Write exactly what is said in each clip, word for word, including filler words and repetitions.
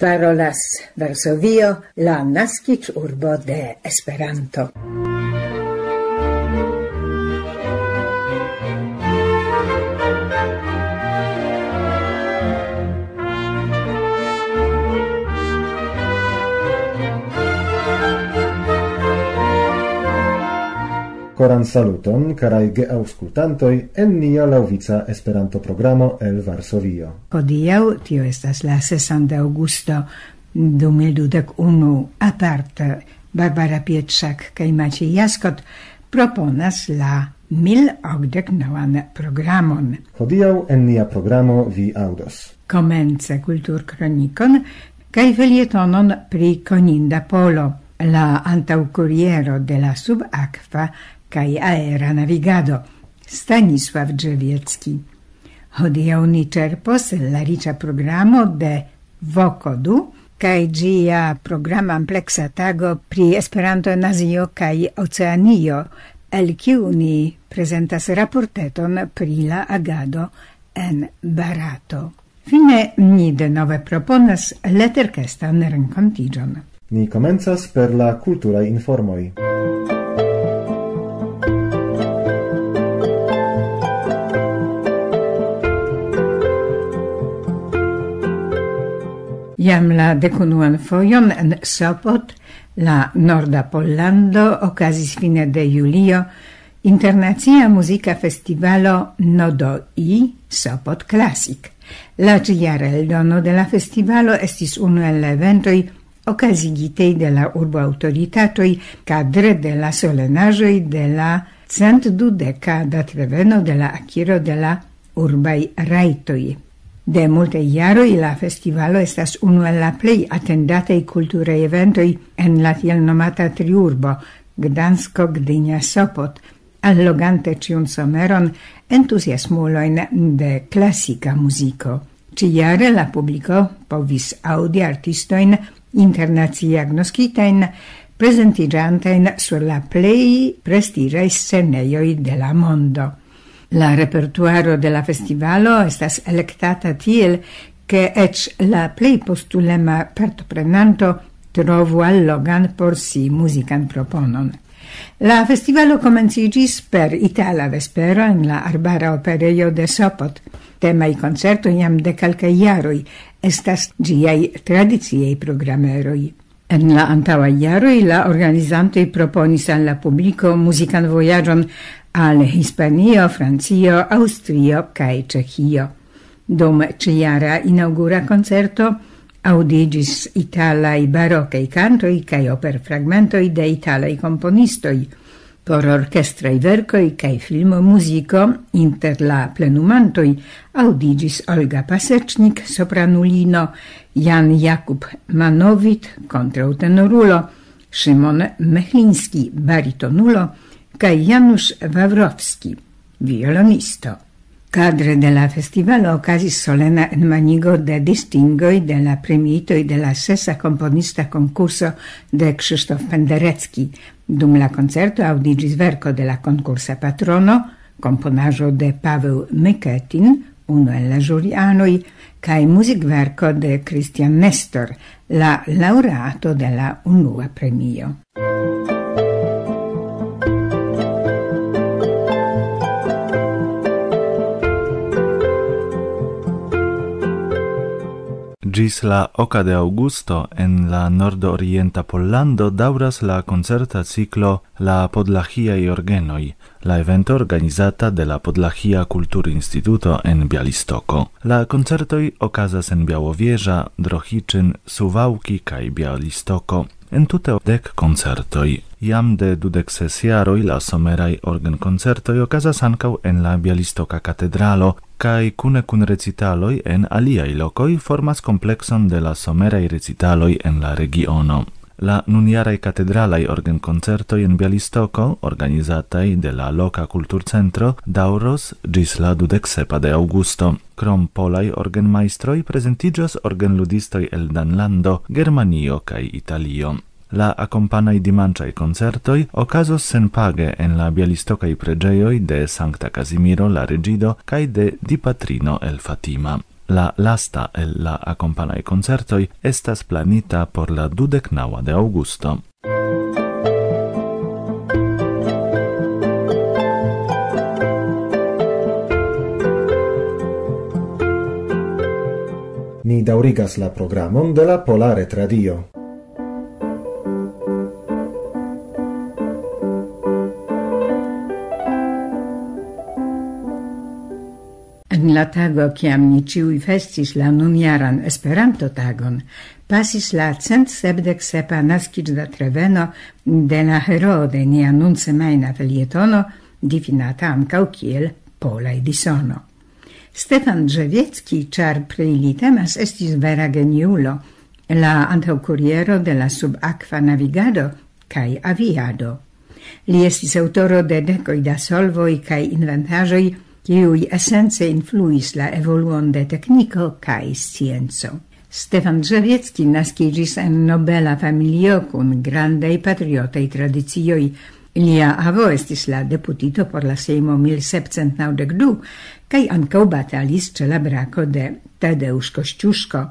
Parolas Varsovio, la naskiĝurbo de Esperanto. Koran saluton, karaj geaŭskultantoj, en nia laŭvica Esperanto-programo el Varsovio. Hodiaŭ, tio estas la sesan de aŭgusto du mil dudek unu, aparte Barbara Pietrzak kaj Maciej Jaskot proponas la mil okdek novan programon. Hodiaŭ en nia programo vi aŭdos. Komence kulturkronikon kaj felietonon pri Koninda Polo, la antaŭkuriero de la subakva kaj aera navigado, Stanisław Drzewiecki. Hodiaŭ ni ĉerpos el la riĉa programo de Voko du kaj ĝia programa ampleksa tago pri Esperanto en Azio kaj Oceanio, el kiu ni prezentas raporteton pri la agado en Barato. Fine ni denove proponas leterkestan renkontiĝon. Ni komencas per la kulturaj informoj. Jam la dekunuan fojon en Sopot, la norda Pollando, okazis fine de julio internacia muzika festivalo Nodo I Sopot Classic. La ĉijara eldono de la festivalo estis unu el la eventoj okazigitej de la urbo aŭtoritatoj kadre de la solenaĵoj de la cent dudeka datreveno de la akiro de la urbaj rajtoj. De multaj jaroj la festivalo estas unu el la plej atendataj kulturaj eventoj en la tiel nomata triurbo, Gdansko, Gdynia, Sopot, allogante ĉiun someron entuziasmulojn de klasika muziko. Ĉijare la publiko povis aŭdi artistojn internacie agnoskitajn, prezentiĝantajn sur la plej prestiĝaj scenejoj de la mondo. La repertuaro de la festivalo estas elektata tiel, ke eĉ la plej postulema partoprenanto trovu allogan por si muzikan proponon. La festivalo komenciĝis per itala vespero en la Arbara Operejo de Sopot. Temaj koncertoj jam de kelkaj jaroj estas ĝiaj tradiciaj programeroj. En la antaŭaj jaroj la organizantoj proponis al la publiko muzikan vojaĝon al Hispanio, Francio, Aŭstrio kaj Ĉeĥio. Dum ĉijara inaŭgura koncerto aŭdiĝis italaj barokaj kantoj kaj operfragmentoj de italaj komponistoj. Por orkestraj verkoj kaj filmomuziko inter la plenumantoj aŭdiĝis Olga Pasecznik, sopranulino, Jan Jakub Manowit, kontraŭtenorulo, Szymon Mechliński, baritonulo, kaj Janusz Wawrowski, violonisto. Kadre de la festivalo okazis solena enmanigo de distingoj de la premiitoj de la sesa komponista konkurso de Krzysztof Penderecki. Dum la koncerto aŭdiĝis verko de la konkursa patrono, komponaĵo de Paweł Myketin, unu el la ĵurianoj, kaj muzikverko de Christian Nestor, la laŭreato de la unua premio. Ĝis la oka de aŭgusto en la nordorienta Pollando daŭras la koncerta ciklo La Podlahiaj Orgenoj, la evento organizata de la Podlahia Kulturinstituto en Bialystoko. La koncertoj okazas en Białowieża, Drohiczyn, Suwałki kaj Białystoko. Entute dek koncertoj. Jam de dudek ses jaroj la someraj orgenkoncertoj okazas ankaŭ en la Bialystoka Katedralo, kaj kune kun recitaloj en aliaj lokoj formas komplekson de la someraj recitaloj en la regiono. La nunjaraj katedralaj orgenkoncertoj en Bialystoko, organizataj de la loka kulturcentro, daŭros ĝis la dudek sepa de aŭgusto. Krom polaj orgenmajstroj prezentiĝos orgenludistoj el Danlando, Germanio kaj Italio. La akompanaj dimanĉaj koncertoj okazos senpage en la bialistokaj preĝejoj de Sankta Kazimiro la Reĝido kaj de Dipatrino el Fatima. La lasta el la akompanaj koncertoj estas planita por la dudek naŭa de aŭgusto. Ni daŭrigas la programon de la Pola Retradio. En la tago, kiam ni ĉiuj festis la nunjaran Esperanto-tagon, pasis la cent sepdek sepa naskiĝdatreveno de la heroo de nia nunsemajna felietono, difinata ankaŭ kiel Pola Edisono. Stefan Drzewiecki, ĉar pri li temas, estis vera geniulo, la antaŭkuriero de la subakva navigado kaj aviado. Li estis aŭtoro de dekoj da solvoj kaj inventaĵoj, kiuj esence influis la evoluon de tekniko kaj scienco. Stefan Drzewiecki naskiĝis en nobela familio kun grandaj patriotaj tradicioj. Lia avo estis la deputito por la Sejmo mil sepcent naŭdek du, kaj ankaŭ batalis ĉe la brako de Tadeusz Kościuszko.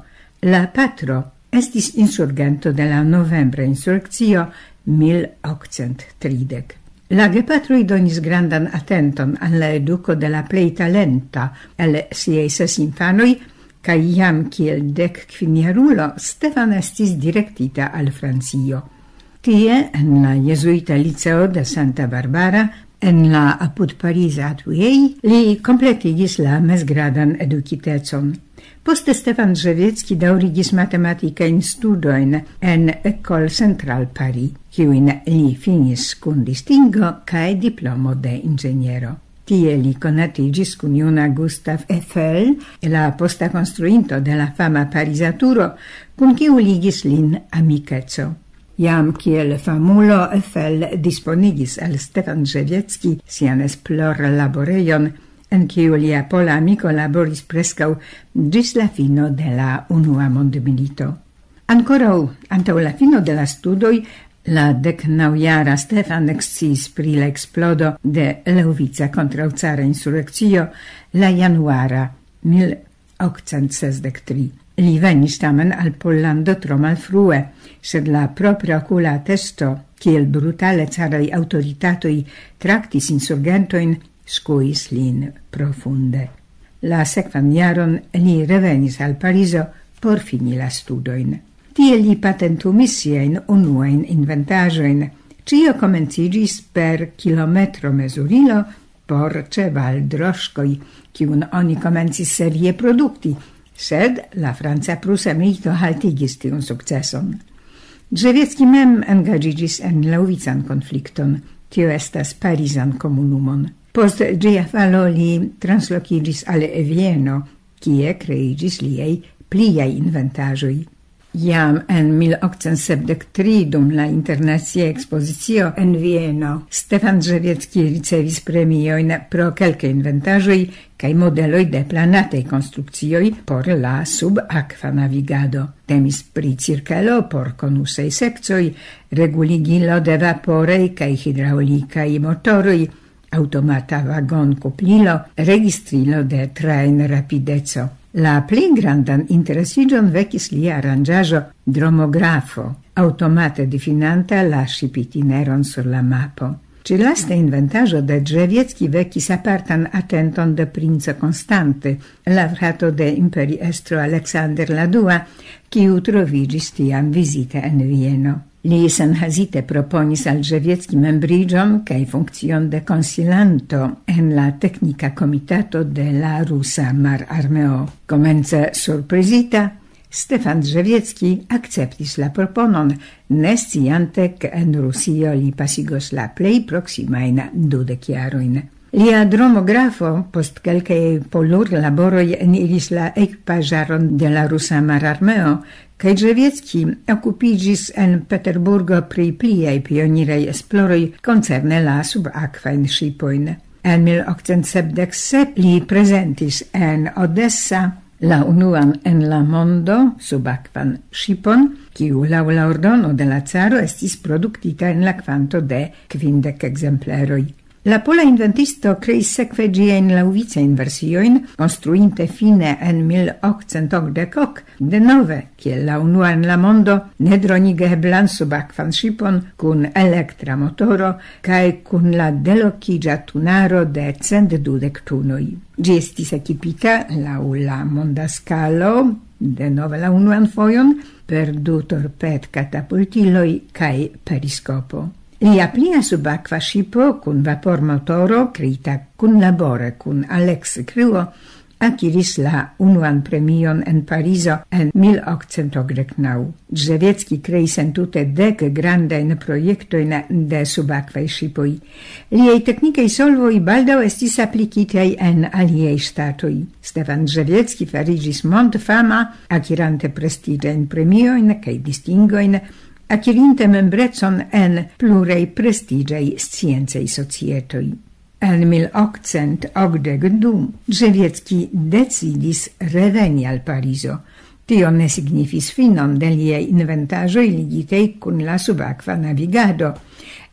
La patro estis insurgento de la novembra insurekcio mil okcent tridek. La gepatroj donis grandan atenton al la eduko de la plej talenta el siaj ses infanoj, kaj jam kiel dek kvin jarulo Stefan estis direktita al Francio. Tie, en la jezuita liceo de Santa Barbara, en la apud Pariza Atujei, li kompletigis la mezgradan edukitecon. Poste Stefan Drzewiecki daŭrigis matematikajn studojn en École Centrale Paris, kiujn li finis kun distingo kaj diplomo de inĝeniero. Tie li konatiĝis kun juna Gustav Eiffel, la posta konstruinto de la fama Pariza turo, kun kiu ligis lin amikeco. Jam kiel famulo Eiffel disponigis al Stefan Drzewiecki sian esplorlaborejon, en kiu lia pola amiko laboris preskaŭ ĝis la fino de la Unua Mondmilito. Ankoraŭ antaŭ la fino de la studoj, la dek naŭ jara Stefan eksciis pri la eksplodo de Leŭvica kontraŭcara insurekcio, la januara mil okcent sesdek tri. Li venis tamen al Pollando tro malfrue, sed la propra okula atesto, kiel brutale caraj aŭtoritatoj traktis insurgentojn, skuis lin profunde. La sekvan jaron li revenis al Parizo por fini la studojn. Tie li patentumis siajn unuajn inventaĵojn. Ĉio komenciĝis per kilometro mezurilo por ĉevaldroŝkoj, kiun oni komencis serie produkti, sed la franca-prusa milito haltigis tiun sukceson. Drzewiecki mem engaĝiĝis en Leŭvican konflikton, tio estas Parizan komunumon. Post ĝia falo li translokiĝis al Vieno, kie kreiĝis liaj pliaj inventaĵoj. Jam en mil okcent sepdek tri, dum la internacia ekspozicio en Vieno, Stefan Drzewiecki ricevis premiojn pro kelkaj inventaĵoj kaj modeloj de planataj konstrukcioj por la subakva navigado. Temis pri cirkelo por konusaj sekcoj, reguligilo de vaporaj kaj hidraŭlikaj motoroj, aŭtomata vagonkuplilo, registrilo de trajnrapideco. La plej grandan interesiĝon vekis lia aranĝaĵo dromografo, aŭtomate difinanta la ŝipitineron sur la mapo. Ĉi lasta inventaĵo de Drzewiecki vekis apartan atenton de princo Konstante, la frato de imperiestro Aleksander la dua, kiu troviĝis tiam vizite en Vieno. Li senhezite proponis al Drzewiecki membriĝon kaj funkcion de konsilanto en la teknika komitato de la rusa mararmeo. Komence surprizita, Stefan Drzewiecki akceptis la proponon, ne sciante, ke en Rusio li pasigos la plej proksimajn dudek jarojn. Lia dromografo post kelkaj polurlaboroj eniris la ekvipaĵaron de la rusa mararmeo, kaj Drzewiecki okupiĝis en Peterburgo pri pliaj pioniraj esploroj koncerne la subakvajn ŝipojn. En mil okcent sepdek sep li prezentis en Odessa la unuan en la mondo subakvan ŝipon, kiu laŭ la ordono de la caro estis produktita en la kvanto de kvindek ekzempleroj. La pola inventisto kreis sekve ĝiajn laŭvicajn versiojn, konstruinte fine en mil okcent okdek ok, denove, kiel la unua en la mondo, nedronigeblan subakvan ŝipon kun elektra motoro kaj kun la delokiĝa tunaro de cent dudek tunoj. Ĝi estis ekipita laŭ la monda skalo, denove la unuan fojon, per du torped-katapultiloj kaj periskopo. Lia plia subakva ŝipo kun vapormotoro, kreita kunlabore kun Alex Cruo, akiris la unuan premion en Parizo en mil okcent okdek naŭ. Drzewiecki kreis entute dek grandajn projektojn de subakvaj ŝipoj. Liaj teknikaj solvoj baldaŭ estis aplikitaj en aliaj ŝtatoj. Stefan Drzewiecki fariĝis mondfama, akirante prestiĝajn premiojn kaj distingojn, akirinte membrecon en pluraj prestiĝaj sciencaj societoj. En mil okcent okdek du Drzewiecki decidis reveni al Parizo. Tio ne signifis finon de liaj inventaĵoj ligitej kun la subakva navigado.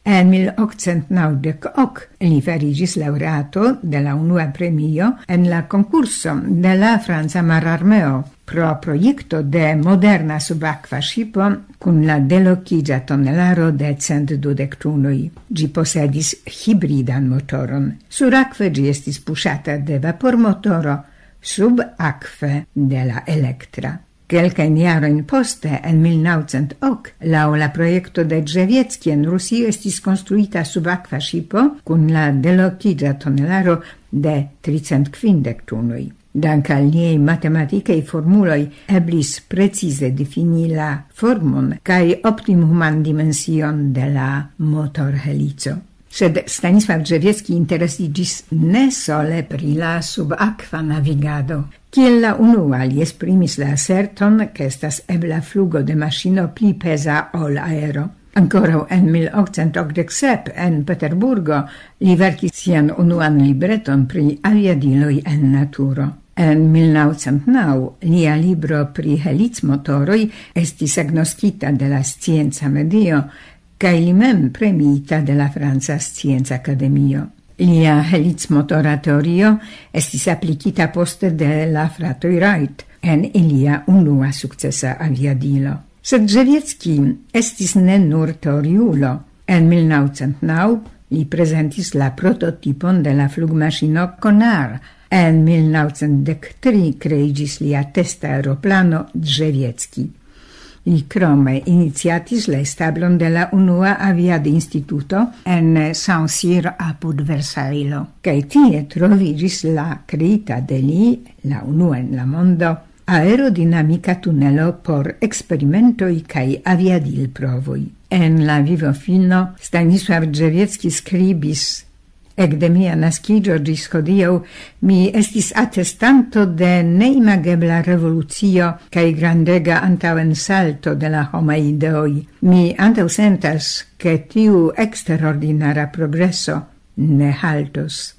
En mil okcent naŭdek ok li fariĝis laŭreato de la unua premio en la konkurso de la franca mararmeo pro projekto de moderna subakva ŝipo kun la delokiĝa tonelaro de cent dudek tunoj. Ĝi posedis hibridan motoron. Surakve ĝi estis puŝata de vapormotoro, subakve de la elektra. Kelkajn jarojn poste, en mil naŭcent ok, laŭ la projekto de Drzewiecki en Rusio estis konstruita subakva ŝipo kun la delokiĝa tonelaro de tricent kvindek tunoj. Dank al niaj matematikaj formuloj eblis precize difini la formon kaj optimuman dimension de la motorhelico. Sed Stanisław Drzewiecki interesiĝis ne sole pri la subakva navigado. Kiel la unua li esprimis la aserton, ke estas ebla flugo de maŝino pli peza ol aero. Ankoraŭ en mil okcent okdek sep en Peterburgo li verkis sian unuan libreton pri aviadiloj en naturo. En mil naŭcent naŭ lia libro pri helicmotoroj estis agnoskita de la scienca medio, kaj li mem premiita de la Franca Scienca Akademio. Lia helicmotora teorio estis aplikita poste de la fratoj Wright en ilia unua sukcesa aviadilo. Sed Drzewiecki estis ne nur teoriulo. En mil naŭcent naŭ li prezentis la prototipon de la flugmaŝino Konar. En mil naŭcent dek tri kreiĝis lia testa aeroplano Drzewiecki. Li krome iniciatis la establon de la unua aviadinstituto en Saint-Cyr apud Versaillo, kaj tie troviĝis la kreita de li, la unua en la mondo, aerodinamika tunelo por eksperimentoj kaj aviadilprovoj. En la vivofino Stanisław Drzewiecki skribis: "Ekde mia naskiĝo ĝis hodiaŭ mi estis atestanto de neimagebla revolucio kaj grandega antaŭensalto de la homaj ideoj. Mi antaŭsentas, ke tiu eksterordinara progreso ne haltos.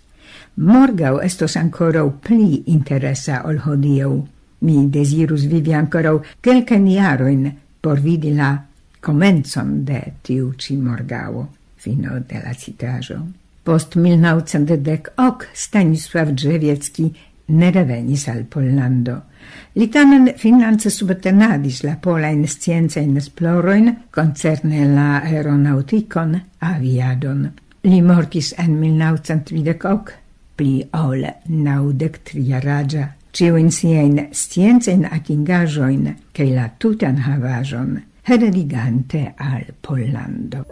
Morgaŭ estos ankoraŭ pli interesa ol hodiaŭ. Mi dezirus vivi ankoraŭ kelkajn jarojn por vidi la komencon de tiu ĉi morgaŭo." Fino de la citaĵo. Post mil naŭcent dek ok Stanisław Drzewiecki ne revenis al Pollando. Li tamen finance subtenadis la polajn sciencajn esplorojn koncerne la aeronaŭtikon, aviadon. Li mortis en mil naŭcent tridek ok, pli ol naŭdek tri jaraĝa, ĉiujn siajn sciencajn atingaĵojn kaj la tutan havaĵon heredigante al Pollando.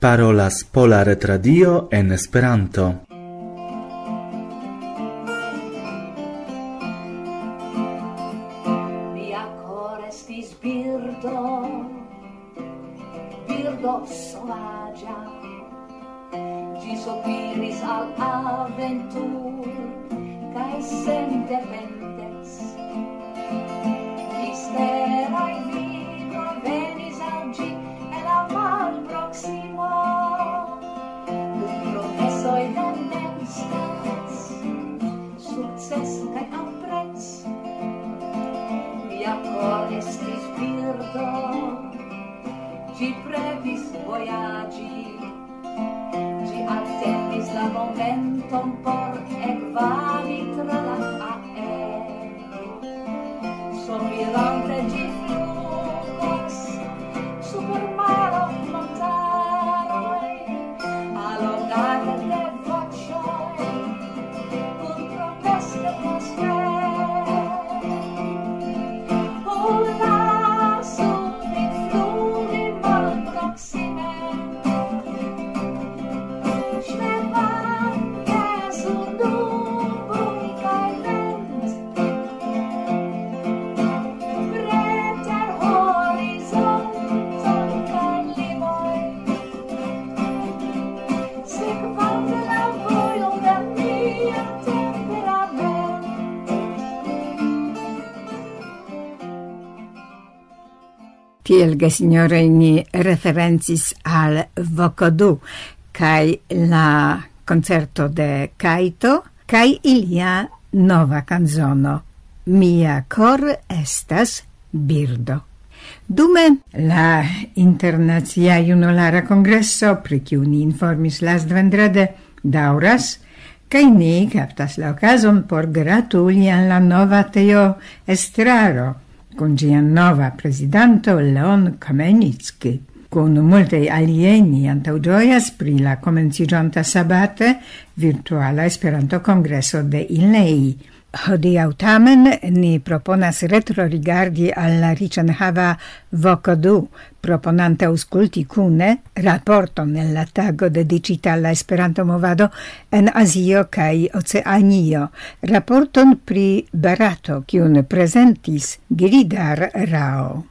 Parolas Pola Retradio en Esperanto. Mia koro estis birdo, birdo sovaĝa. Ĝi sopiris al aventur kaj sendependec. Misteraj ligoj venis al ĝi el la mar. Ĝi, ĝi atendis la momenton por ekvadi tra la aero. Somirante ĝi flugas super maro, montaroj, alodate de voĉoj, kun proteste poste. Lasu min flugi malproksime, ŝlepante sur nuboj kaj vent, preter horizonton kaj limoj, sekvante la vojon de mia temperamento. Tiel, gesinjoroj, ni referencis al Vokodu kaj la koncerto de Kajto kaj ilia nova kanzono Mia kor estas birdo. Dume la Internacia Junulara Kongreso, pri kiu ni informis lastvendrede, daŭras, kaj ni kaptas la okazon por gratuli al la nova teo estraro kun ĝia nova prezidanto Leon Kamenicki. Kun multaj aliaj ni antaŭ ĝojas pri la komenciĝonta sabate virtuala Esperanto-kongreso de Ilei. Hodiaŭ tamen ni proponas retrorigardi al la riĉenhava Vokodu, proponante aŭskulti kune raporton el la tago dediĉita al la Esperanto-movado en Azio kaj Oceanio, raporton pri Barato, kiun prezentis Giridhar Rao.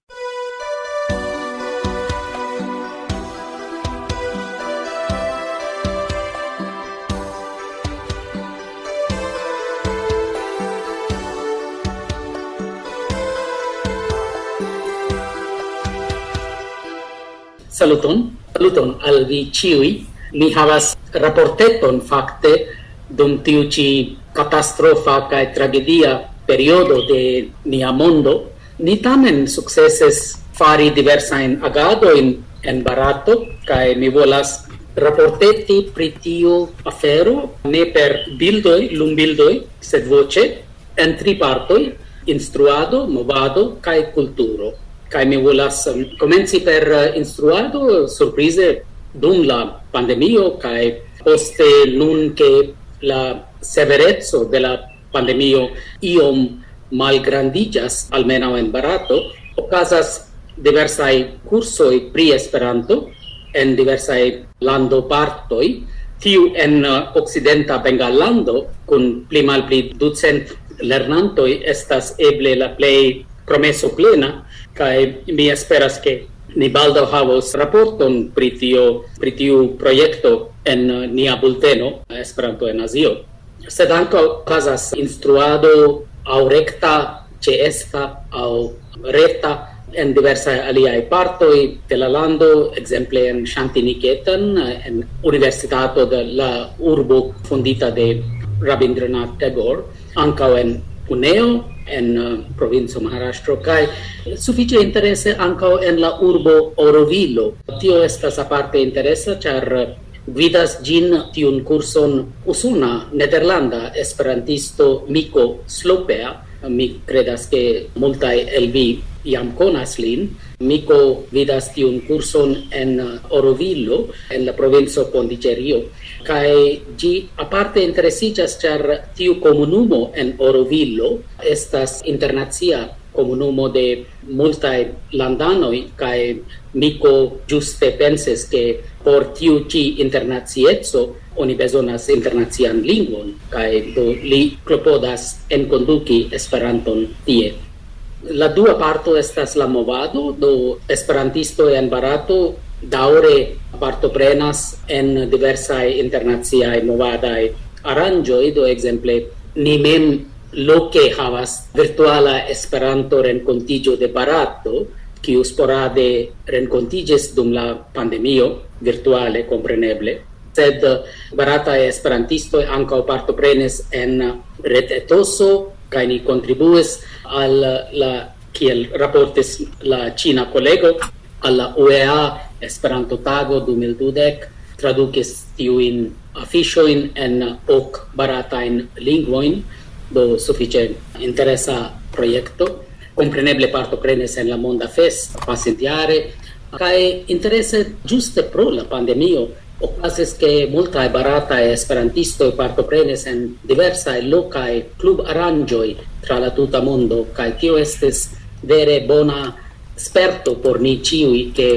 Saluton, saluton al vi ĉiuj. Mi havas raporteton fakte dum tiu ĉi katastrofa kaj tragedia periodo de nia mondo. Ni tamen sukcesis fari diversajn agadojn en Barato, kaj mi volas raporteti pri tiu afero ne per bildoj, lumbildoj, sed voĉe en tri partoj: instruado, movado kaj kulturo. Kaj mi volas, em, komenci per, eh, instruado, surprize dum la pandemio kaj poste nun, ke la severeco de la pandemio iom malgrandiĝas, almenaŭ en Barato, okazas diversaj kursoj pri Esperanto en diversaj landopartoj. Tiu en, eh, okcidenta Bengallando, kun pli malpli ducent lernantoj, estas eble la plej promeso plena, kaj mi esperas, ke ni baldaŭ havos raporton pri tio, pri tiu projekto en, eh, nia bulteno Esperanto en Azio. Sed ankaŭ okazas instruado aŭ rekta, ĉeesta aŭ reta en diversaj aliaj partoj de la lando, ekzemple en Shantiniketan, en universitato de la urbo fondita de Rabindranath Tagore, ankaŭ en Puneo, en, eh, provinco Maharashtra, kaj sufiĉe interese ankaŭ en la urbo Orovilo. Tio estas aparte interesa, ĉar gvidas ĝin, tiun kurson, usona, nederlanda esperantisto Miko Slopea. Mi kredas, ke multaj el vi jam konas lin. Miko gvidas tiun kurson en Orovilo, en la provinco Pondiĉerio. Kaj ĝi aparte interesiĝas, ĉar tiu komunumo en Orovilo estas internacia komunumo de multaj landanoj, kaj Miko ĝuste pensis, ke por tiu ĉi internacieco oni bezonas internacian lingvon, kaj do li klopodas enkonduki Esperanton tie. La dua parto estas la movado, do esperantistoj en Barato daŭre partoprenas en diversaj internaciaj movadaj aranĝoj, do ekzemple ni mem loke havas virtuala Esperanto-renkontiĝo de Barato, kiu sporade renkontiĝis dum la pandemio, virtuale kompreneble. Sed barataj esperantistoj ankaŭ partoprenis en retetoso, kaj ni kontribuis al la, kiel raportis la ĉina kolego, al la U E A Esperanto-tago du mil dudek tradukis tiujn afiŝojn en ok baratajn lingvojn, do sufiĉe interesa projekto. Kompreneble partoprenis en la Monda Fest pasintjare, kaj interese ĝuste pro la pandemio okazis, ke multaj barataj esperantistoj partoprenis en diversaj lokaj klubaranĝoj tra la tuta mondo, kaj tio estis vere bona sperto por ni ĉiuj, ke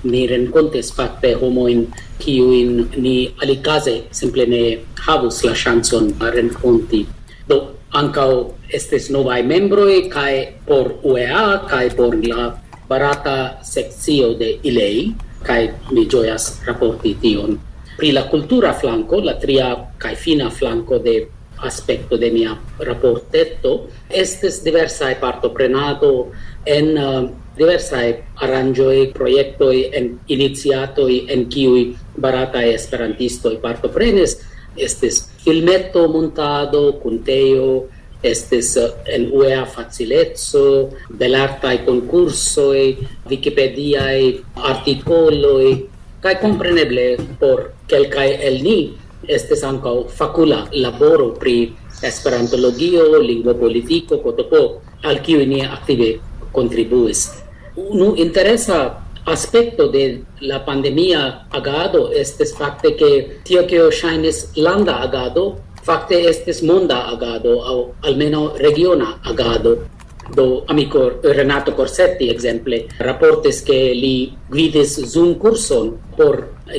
ni renkontis fakte homojn, kiujn ni alikaze simple ne havus la ŝancon renkonti. Do, ankaŭ estis novaj membroj kaj por U E A kaj por la barata sekcio de Ilei, kaj mi ĝojas raporti tion. Pri la kultura flanko, la tria kaj fina flanko de aspekto de mia raporteto, estis diversaj partoprenado en, eh, diversaj aranĝoj, projektoj, en iniciatoj, en kiuj barataj esperantistoj partoprenis. Estis filmeto, montado, kuntejo, estis, eh, en U E A facileco, belartaj konkursoj, vikipediaj artikoloj, kaj kompreneble por kelkaj el ni estis ankaŭ fakula laboro pri esperantologio, lingvopolitiko, K T P, al kiuj ni aktive kontribuis. Unu interesa aspekto de la pandemia agado estis fakte, ke tio, kio ŝajnis landa agado, fakte estis monda agado, aŭ almenaŭ regiona agado. Do, amiko Renato Corsetti, ekzemple, raportis, ke li gvidis Zoom-kurson por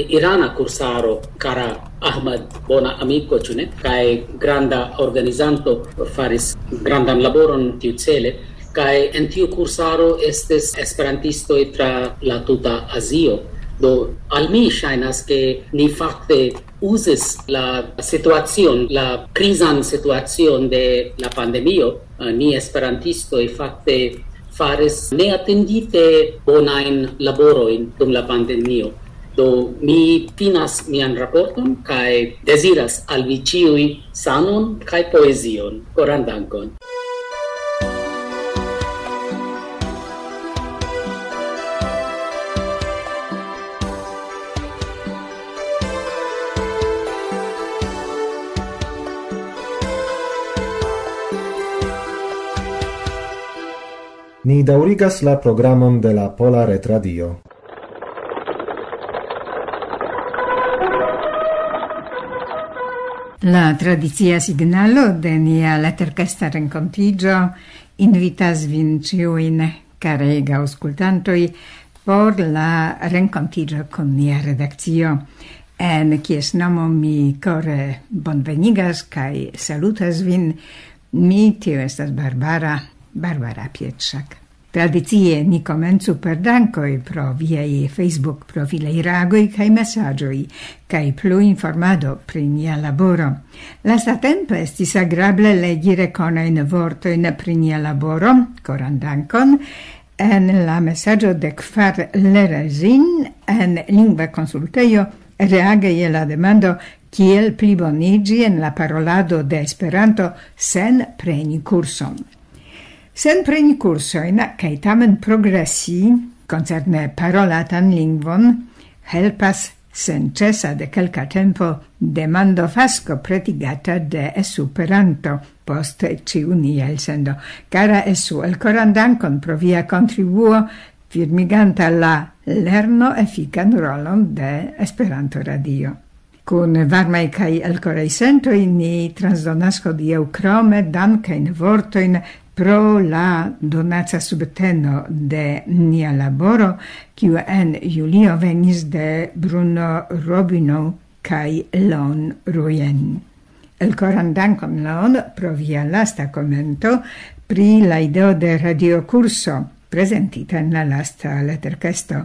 irana kursaro, kara Ahmad, bona amiko, ĉu ne? Kaj granda organizanto faris grandan laboron tiucele. Kaj en tiu kursaro estis esperantistoj tra la tuta Azio. Do, al mi ŝajnas, ke ni fakte uzis la situacion, la krizan situacion de la pandemio. Eh, ni esperantistoj fakte faris neatendite bonajn laborojn dum la pandemio. Do, mi finas mian raporton kaj deziras al vi ĉiuj sanon kaj poezion. Koran dankon. Ni daŭrigas la programon de la Pola Retradio. La tradicia signalo de nia laterkesta renkontiĝo invitas vin ĉiujn, karega aŭskultantoj, por la renkontiĝo kun nia redakcio, en kies nomo mi kore bonvenigas kaj salutas vin. Mi, tio estas Barbara, Barbara Pietrzak. Tradicie ni komencu per dankoj pro viaj Facebook-profilaj reagoj kaj mesaĝoj, kaj plu informado pri nia laboro. Lastatempe estis agrable legi rekonojn vortojn pri nia laboro, koran dankon, en la mesaĝo dekvar Lerezin en Lingva Konsultejo, reage je la demando, kiel pliboniĝi en la parolado de Esperanto sen preni kurson. Sen preni kursojn, kaj tamen progresi koncerne parolatan lingvon, helpas senĉesa de kelka tempo demando fasko pretigata de Esperanto post ĉiu nia elsendo. Kara Esu, elkoran dankon pro via kontribuo, firmiganta la lerno efikan rolon de Esperanto Radio. Kun varmaj kaj elkoraj sentoj ni transdonas hodiaŭ krome dankajn vortojn pro la donaca subteno de nia laboro, kiu en julio venis de Bruno Robino kaj Lon Rujen. Elkoran dankon, Lon, pro via lasta komento pri la ideo de radiokurso, prezentita en la lasta leterkesto.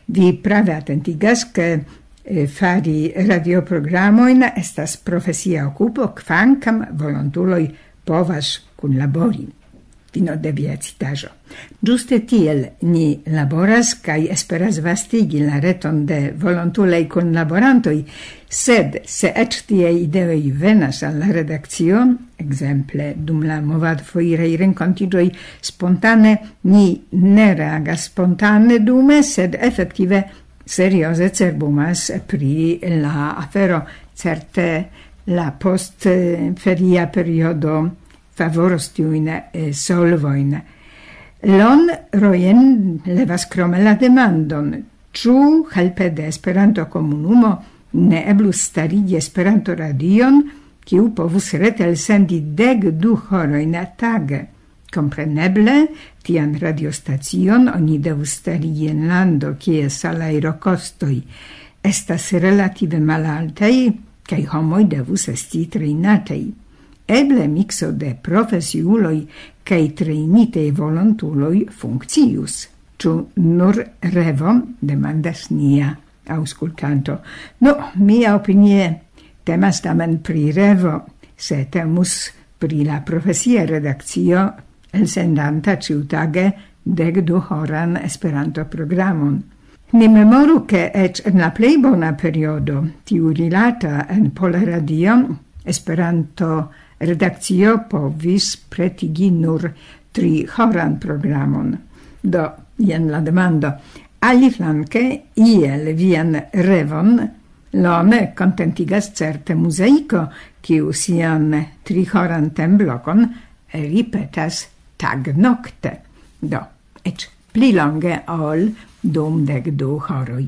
Vi prave atentigas, ke, eh, fari radioprogramojn estas profesia okupo, kvankam volontuloj povas kunlabori. Fino de via citaĵo. Ĝuste tiel ni laboras kaj esperas vastigi la reton de volontulaj kunlaborantoj, sed se eĉ tiaj ideoj venas al la redakcio, ekzemple dum la movadfoiraj renkontiĝoj spontane, ni ne reagas spontane dume, sed efektive serioze cerbumas pri la afero. Certe la post, eh, feria periodo favoros tiujn, eh, solvojn. Lon Rojen levas krome la demandon, ĉu helpe de Esperanto-komunumo ne eblus starigi Esperanto-radion, kiu povus rete elsendi dek du horojn tage. Kompreneble, tian radiostacion oni devus starigi en lando, kie salajrokostoj estas relative malaltaj, kaj homoj devus esti trejnataj. Eble mikso de profesiuloj kaj trejnitaj volontuloj funkcius. Ĉu nur revo? Demandas nia aŭskultanto. Nu, mia opinie temas tamen pri revo, se temus pri la profesia redakcio elsendanta ĉiutage dek du horan Esperanto-programon. Ni memoru, ke eĉ en la plej bona periodo, tiu rilata en Pola Radio, Esperanto-redakcio povis pretigi nur tri horan programon. Do, jen la demando. Aliflanke, iel vian revon, Lone kontentigas certe Muzaiko, kiu sian tri horan temblokon ripetas tagnokte. Do, eĉ pli longe ol dum dek du horoj.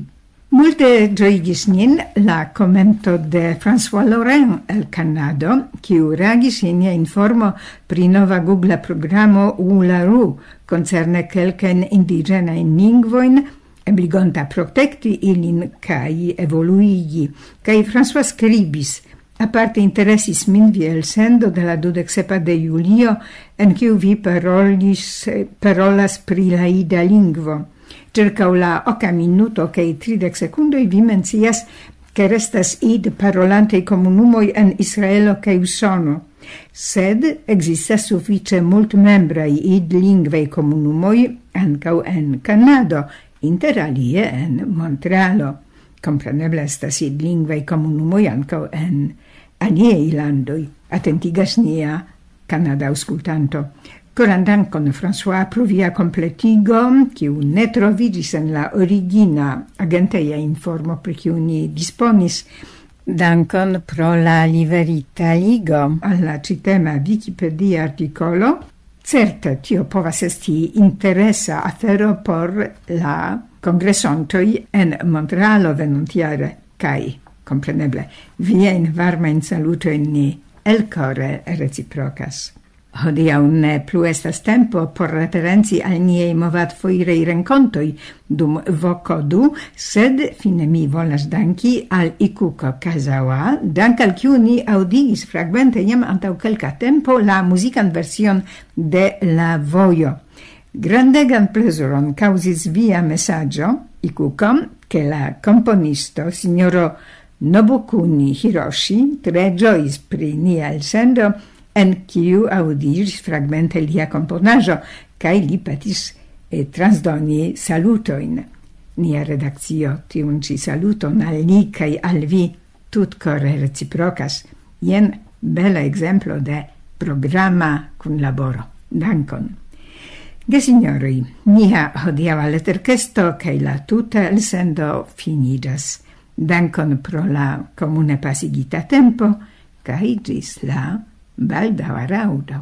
Multe ĝojigis nin la komento de François Laurent el Kanado, kiu reagis je nia informo pri nova Google programo Uluru koncerne kelkajn indiĝenajn lingvojn, ebligonta protekti ilin kaj evoluigi. Kaj François skribis: "Aparte interesis min via elsendo de la dudek sepa de julio, en kiu vi parolis, parolas pri la ida lingvo. Ĉirkaŭ la oka minuto kaj tridek sekundoj vi mencias, ke restas id parolantej komunumoj en Israelo kaj Usono. Sed ekzistas sufiĉe multmembraj id lingvaj komunumoj ankaŭ en Kanado, inter alie en Montrealo. Kompreneble estas id lingvaj komunumoj ankaŭ en aliaj landoj", atentigas nia kanada aŭskultanto. Koran dankon, François, pro via kompletigo, kiu ne troviĝis en la origina agenteja informo, pri kiu ni disponis. Dankon pro la liverita ligo al la ĉitema Wikipedia artikolo. Certe, tio povas esti interesa afero por la kongresontoj en Montrealo venontjare, kaj, kompreneble, viajn varmajn salutojn ni elkore reciprokas. Hodiaŭ ne plu estas tempo por referenci al niaj movadfoiraj renkontoj dum Voko du, sed fine mi volas danki al Ikuko Kazawa, dank al kiu ni aŭdigis fragmente jam antaŭ kelka tempo la muzikan version de La Vojo. Grandegan plezuron kaŭzis via mesaĝo, Ikuko, ke la komponisto, sinjoro Nobukuni Hiroshi, tre ĝojis pri nia elsendo, en kiu aŭdiĝis fragmente lia komponaĵo, kaj li petis, eh, transdoni salutojn. Nia redakcio tiun ĉi saluton al li kaj al vi tutkore reciprokas. Jen bela ekzemplo de programa kunlaboro. Dankon. Gesinjoroj, nia hodiaŭa leterkesto kaj la tuta elsendo finiĝas. Dankon pro la komune pasigita tempo, kaj ĝis la baldaŭa raŭdo.